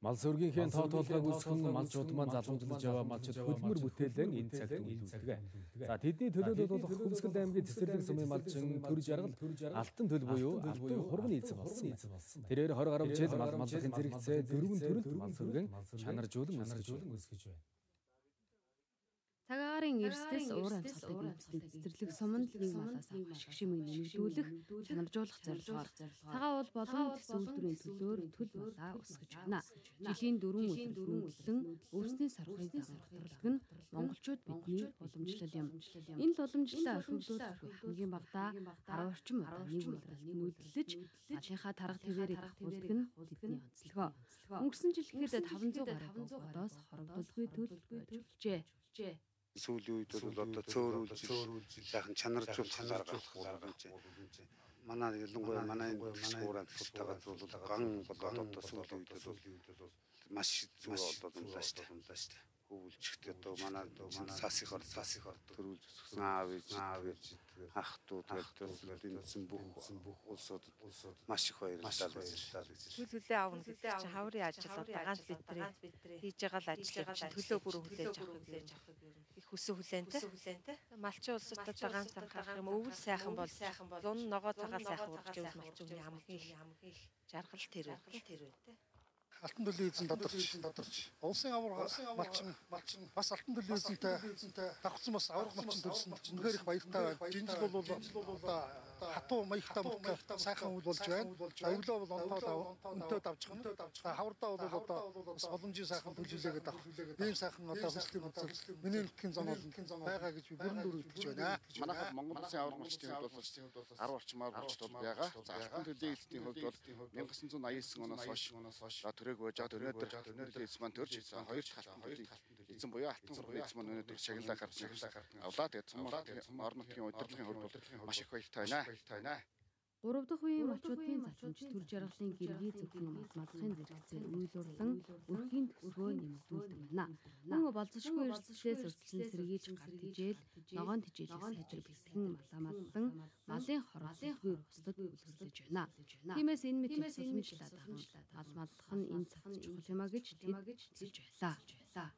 Мал сүргийнхээ тоо толгойг үүсгэн малчууд маань залгамжлаж яваа малчид хөдөлмөр бүтээлэн энэ цагт үйлдвэрлэдэг. За тэдний төлөөлөл болох Хөмсгөл аймгийн цэцэрлэг сумын малчин төр жаргал алтан төл буюу алтан хурганы эзэн болсон. Тэрээр 20 гаруй жил мал малчийн зэрэгцээ дөрвөн төрөлд мал сүргэн чанаржуулан өсгөж байна. Цагаагаарын эрсдэс уур амьсгалыг нэмсэн цэцэрлэг суманд нэг малаас авах ашиг шимийг нэмэгдүүлэх, чанаржуулах зорилгоор цагаан уул болон тэс үйлдвэрийн төлөөр төл малаа өсгөж байна. Жилийн 4 өдөр хөнгөлөн өвсний сархыг дагуулдаг нь монголчууд бидний уламжлал юм. Энэ л уламжлалаа орхигдуулах хамгийн багадаа 10 орчим удаа нэг удаа нүүдэлж малынхаа тарга твэрийг авахулдаг нь тэдний онцлогоо. Өнгөрсөн жил ихэд 500 гаруй бодоос хорогдолгүй төл болжээ. Сүүлийн үед бол одоо цөөрүүлж сайхан чанаржуулах гаргах боломж. Манай ялангуяа манай энэ шууран тусгааж бол ган болоод одоо сүүлийн үед бол маш зүгээр болоод байна шүү дээ. Хөвөлчгт одоо манай сасихор төрүүлж өсгсөн аав ах トゥ тэгээд энэ бүх улсууд маш их баярлалаа гэж. Төлөвлөлөө авна гэдэг чинь хаврын ажил одоо ганц битрээ хийж байгаа л ажлыг төлөө бүр хүлээж авах их хүссэн хүлээнтэй. Малчин улсад одоо ганц анхаарах юм өвөл сайхан бол зун ногоо цагаал сайхан урж ивэл малчин хамгийн их жаргал тэр үү. Алтан төлөв эзэн додорч. Улсын авар малчин бас алтан төлөв эзэнтэй давхцсан бас аврах малчин төрсөн. Үнэхээр их баяртай байна. Жинжил бол хатуу маягтай мөхтэй сайхан үйл болж байна. Аюулаа бол онтоо давжхан. Хавардаа бол одоо бас боломжийн сайхан төлөвлөгөөд авах. Ийм сайхан одоо хөслийн үзэл миний нутгийн зам бол байгаа гэж би бүрэн дүүр итгэж байна. Манайхад Монгол Улсын аврах малчдын хувьд бол 10 орчмаар болчтол байгаа. За алтан төлөв эзний хувьд бол 1999 оноос хойш төрөг байж өнөөдөр эзэн маань төрж хоёр халтан эзэн буюу алтан хурганы эзэн маань өнөөдөр шагналаа авлаа. Тэгээд цомгоо орон нутгийн удирдлагын хувьд маш их баяртай байна. 3 дахь үеийн малчуудын залхамж төр жаргалын гэргий зөвхөн малхын зэрэгцээ үйлурлан өрхийн төсвөө нэмэгдүүлдэг байна. Мөн болцошгүй эрсдлээс өрсөлдсөн сэргийж гар тижээл, ногоон тижээлийг сайжир бэлтгэн малан малын хорлолгүй бусдад үлгэрлэж байна. Тиймээс энэ мэт уламжлалаа мал маллах нь энэ цагт чухал юмаа гэж тэд хэлж байлаа.